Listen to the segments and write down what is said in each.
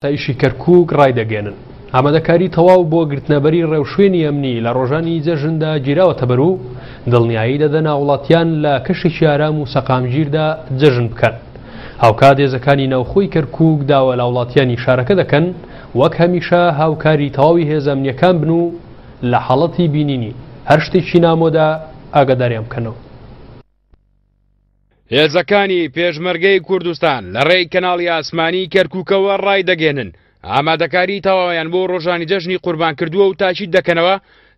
ئاسایشی کەرکووک ڕایدەگەیەنن، ئامادەکاری تەواو بۆ گرتنەبەری ڕێوشوێنی ئەمنی لە ڕۆژانی جەژندا گیراوەتەبەر و دڵنیایی دەدەن هاوڵاتیان لە کەشێکی ئارام و سەقامگیردا جەژن بکەن. هاوکات هێزەکانی ناوخۆی کەرکووک داوا لە هاوڵاتیانی شارەکە دەکەن وەک هەمیشە هاوکاری تەواوی هێزە ئەمنییەکان بن و لە حاڵەتی بینینی هەر شتێکی نامۆدا ئاگاداریان بکەنەوە. هێزەکانی پێشمەرگەی کوردستان لە ڕێی کەناڵی ئاسمانی کەرکووکەوە ڕایدەگەێنن ئامادەکاری تەواویان بۆ ڕۆژانی جەژنی قوربان کردووە و تاکید دەکەنەوە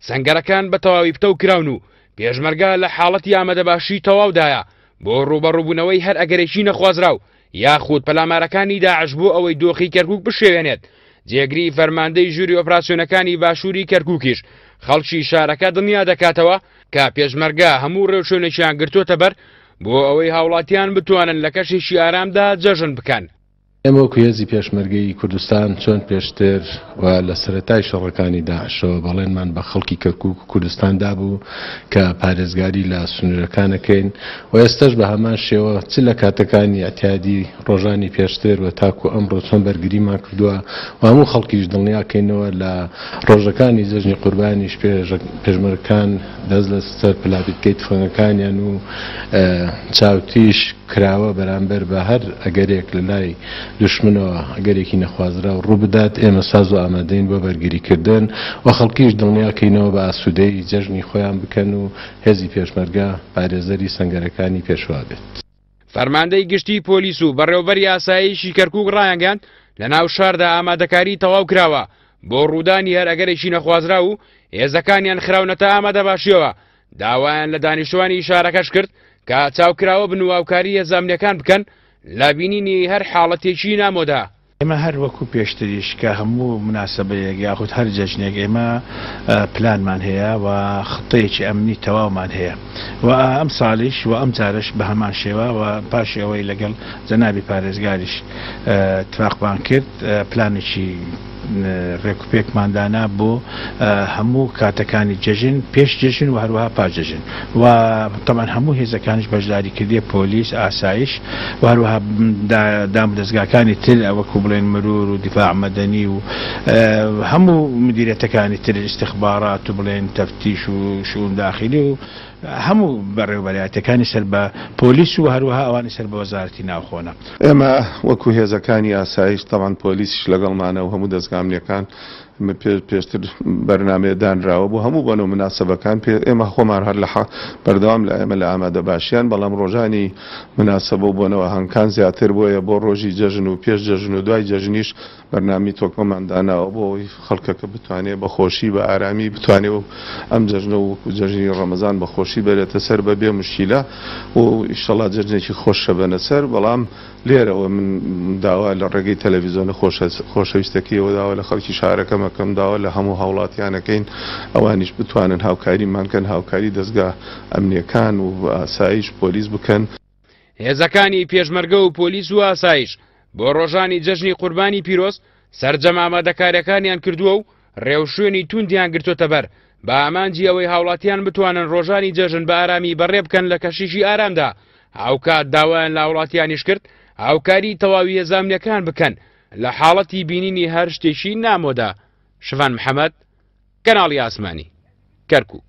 سەنگەرەکان بە تەواوی پتەو کراون و پێشمەرگە لە حاڵەتی ئامادەباشی تەواودایە بۆ ڕووبەڕووبوونەوەی هەر ئەگەرێکی نەخوازراو یاخود پەلامارەکانی داعش بۆ ئەوەی دۆخی کەرکووک بشێوێنێت. جێگری فەرماندەی ژووری ئۆپراسیۆنەکانی باشووری کەرکووکیش خەڵکی شارەکە دڵنیا دەکاتەوە کە پێشمەرگە هەموو ڕێوشوێنێکیان گرتووەتە بەر بۆ ئەوەی هاوڵاتیان بتوانن لە کەشێکی ئارامدا جەژن بکەن. ئێمە وەکو هێزی پێشمەرگەی کوردستان چۆن پێشتر و لە سەرەتای شەڕەکانی داعشەوە بەڵێنمان بە خەڵکی کەرکوک و کوردستان دابوو کە پارێزگاری لە سنوورەکان ئەکەین و ئێستەش بە هەمان شێوە چ لە کاتەکانی ئیعتیادی ڕۆژانی پێشتر و تاکو ئەمڕۆ چۆن بەرگریمان کردووە و هەموو خەڵکیش دڵنیا کەینەوە لە ڕۆژەکانی جەژنی قوربانیش پێشمەرگەکان دەست لە سەر پلاپیتکەی تفەنگەکانیان و چاوتیش کراوە بەرامبەر بە هەر ئەگەرێک لە لای دوشمنەوە ئەگەرێکی نەخوازراو ڕووبدات ئێمە ساز و ئامادەین بۆ بەرگریکردن و خەڵکیش دڵنیا کەینەوە بە ئاسوودەیی جەژنی خۆیان بکەن و هێزی پێشمەرگە پارێزەری سەنگەرەکانی پێشوا بێت. فەرماندەی گشتیی پۆلیس و بەڕێوەبەری ئاسایشی کەرکووک ڕایانگەیاند، لەناو شاردا ئامادەکاری تەواو کراوە بۆ ڕوودانی هەر ئەگەرێکی نەخوازراو و هێزەکانیان خراونەتە ئامادەباشییەوە، داوایان لە دانیشتوانی شارەکەش کرد کە چاوکراوە بن و هاوکاری هێزە ئەمنییەکان بکەن لە بینینی هەر حاڵەتێکی نامۆدا. ئێمە هەر وەکو پێشتریش کە هەموو موناسەبەیەک یاخود هەر جەژنێک ئێمە پلانمان هەیە و خطەیەکی ئەمنی تەواومان هەیە و ئەم ساڵیش و ئەم جارەش بە هەمان شێوە و پاشی ئەوەی لەگەڵ جەنابی پارێزگاریش تفاقمان کرد پلانێکی ڕێکوپێکمان دانا بۆ هەموو کاتەکانی جەژن، پێش جەژن و هەروەها پاش جەژن و تەبعەن هەموو هێزەکانیش بەشداری کردیە، پۆلیس، ئاسایش و هەروەها دامودەزگاکانی تر وەکو بڵێن مرور و دیفاع مەدەنی و هەموو مدیرێتەکانی تر ئیستخبارات و بڵێن تەفتیش و شئون داخلی و هەموو بەڕێوەبەرایەتیەکانی سەر بە پۆلیس و هەروەها ئەوانی سەر بە وەزارەتی ناوخۆنە. ئێمە وەکو هێزەکانی ئاسایش تەبعەن پۆلیسیش لەگەڵمانە و هەموو دەزگا ئەمنیەکان پێشتر بەرنامەیە دانراوە بۆ هەموو بۆنە و موناسەبەکان پێ ئێمە خۆمان هەر لە بەردەوام لە ئێمە لە ئامادەباشیان بەڵام ڕۆژانی موناسەبە و بۆنە و ئاهەنگکان زیاتر بۆیە بۆ ڕۆژی جەژن و پێش جەژن و دوای جەژنیش بەرنامەی تۆکمەمان داناوە بۆ ئەوەی خەڵکەکە بتوانێت بە خۆشی بە ئارامی بتوانێت و ئەم جەژنە و وەکو جەژنی ڕەمەزان بە خۆشی بەرێتە سەر بە بێ موشکیلە و ئیشەڵا جەژنێکی خۆش شەبەنە سەر بەڵام لێرەوە من داوا لە ڕێگەی تەلەڤیزۆنە خۆشەویستەکەیەوە داوا لە خەڵکی شارەکەم ئەکەم داوا لە هەموو هاوڵاتیان ئەکەین ئەوانیش بتوانن هاوکاریمان کەن هاوکاری دەزگا ئەمنیەکان و ئاسایش پۆلیس بکەن. هێزەکانی پێشمەرگە و پۆلیس و ئاسایش بۆ ڕۆژانی جەژنی قوربانی پیرۆز سەرجەم ئامادەکاریەکانیان کردووە و ڕێوشوێنی توندیان گرتووەتەبەر بە ئامانجی ئەوەی هاوڵاتیان بتوانن ڕۆژانی جەژن بە ئارامی بەڕێ بکەن لە کەشێکی ئارامدا، هاوکات داوایان لە هاوڵاتیانیش کرد هاوکاری تەواوی هێزە ئەمنیەکان بکەن لە حاڵەتی بینینی هەر شتێکی نامۆدا. شڤان محەمەد، کەناڵی ئاسمانی، کەرکوک.